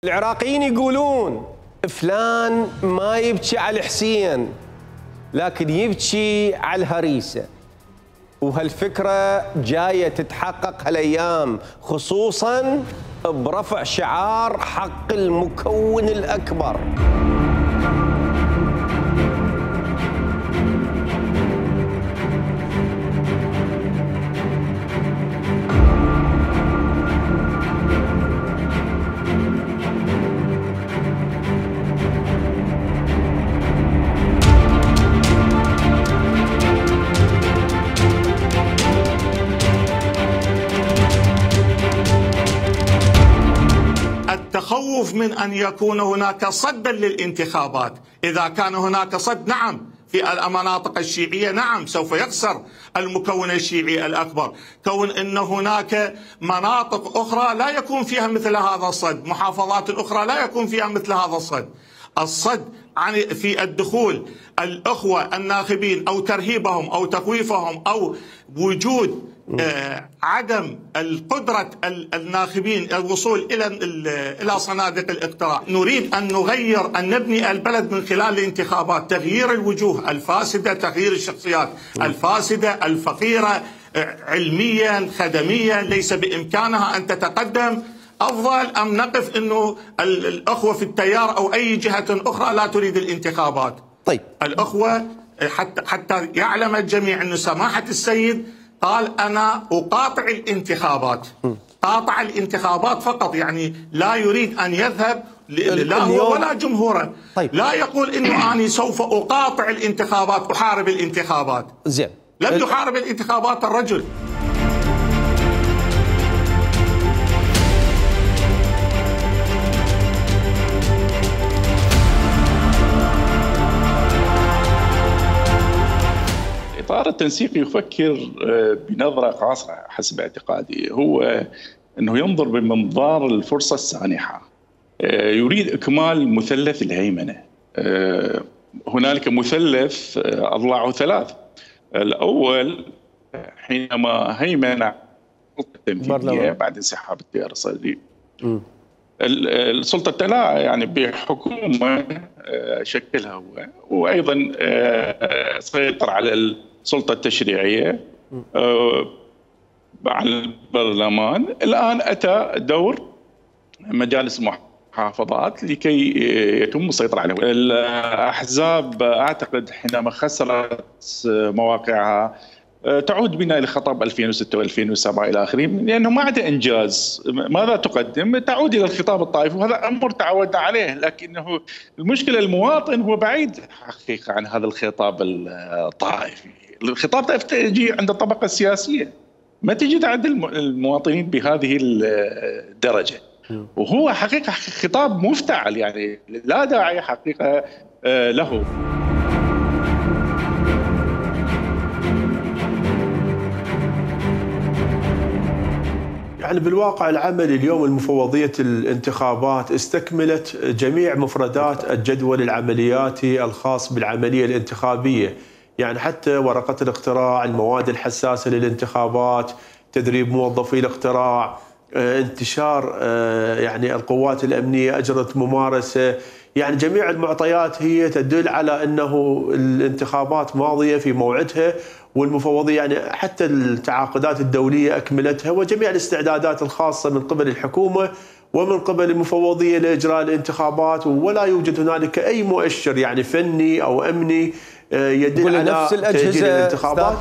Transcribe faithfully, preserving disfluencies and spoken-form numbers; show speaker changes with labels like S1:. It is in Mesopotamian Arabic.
S1: العراقيين يقولون فلان ما يبكي على الحسين لكن يبكي على الهريسة، وهالفكرة جاية تتحقق هالأيام خصوصاً برفع شعار حق المكون الأكبر.
S2: التخوف من أن يكون هناك صدا للانتخابات. إذا كان هناك صد، نعم، في المناطق الشيعية نعم سوف يخسر المكون الشيعي الأكبر. كون أن هناك مناطق أخرى لا يكون فيها مثل هذا الصد، محافظات أخرى لا يكون فيها مثل هذا الصد. الصد عن في الدخول الأخوة الناخبين أو ترهيبهم أو تخويفهم أو وجود آه عدم القدرة الناخبين الوصول إلى إلى صناديق الاقتراع. نريد أن نغير، أن نبني البلد من خلال الانتخابات، تغيير الوجوه الفاسدة، تغيير الشخصيات الفاسدة الفقيرة علميا خدميا ليس بإمكانها أن تتقدم. أفضل أم نقف أنه الأخوة في التيار أو أي جهة أخرى لا تريد الانتخابات؟
S1: طيب
S2: الأخوة حتى حتى يعلم الجميع أن سماحة السيد قال أنا أقاطع الانتخابات، قاطع الانتخابات فقط، يعني لا يريد أن يذهب لا هو ولا جمهوره.
S1: طيب.
S2: لا يقول إنه أنا سوف أقاطع الانتخابات، أحارب الانتخابات.
S1: زين،
S2: لم يحارب الانتخابات الرجل.
S3: الإطار التنسيقي يفكر بنظرة قاصرة حسب اعتقادي، هو أنه ينظر بمنظار الفرصة السانحة، يريد إكمال مثلث الهيمنة. هنالك مثلث أضلاعه ثلاث. الأول حينما هيمن السلطة التنفيذية بعد انسحاب التيار الصدري، السلطة التلاعة يعني بحكومة شكلها هو، وأيضا سيطر على السلطة التشريعية على البرلمان. الآن أتى دور مجالس المحافظات لكي يتم السيطرة عليه. الأحزاب أعتقد حينما خسرت مواقعها تعود بنا إلى خطاب ألفين وستة وألفين وسبعة إلى آخره، لأنه ما عدا إنجاز. ماذا تقدم؟ تعود إلى الخطاب الطائفي، وهذا أمر تعودنا عليه، لكنه المشكلة المواطن هو بعيد حقيقة عن هذا الخطاب الطائفي. الخطاب الطائفي يجي عند الطبقة السياسية، ما تجد عند المواطنين بهذه الدرجة، وهو حقيقة خطاب مفتعل، يعني لا داعي حقيقة له.
S4: يعني بالواقع العملي اليوم المفوضية الانتخابات استكملت جميع مفردات الجدول العملياتي الخاص بالعملية الانتخابية، يعني حتى ورقة الاقتراع، المواد الحساسة للانتخابات، تدريب موظفي الاقتراع، انتشار يعني القوات الأمنية أجرت ممارسة، يعني جميع المعطيات هي تدل على أنه الانتخابات ماضية في موعدها، والمفوضية يعني حتى التعاقدات الدولية أكملتها، وجميع الاستعدادات الخاصة من قبل الحكومة ومن قبل المفوضية لإجراء الانتخابات، ولا يوجد هنالك أي مؤشر يعني فني أو أمني يدل على تأجيل الانتخابات.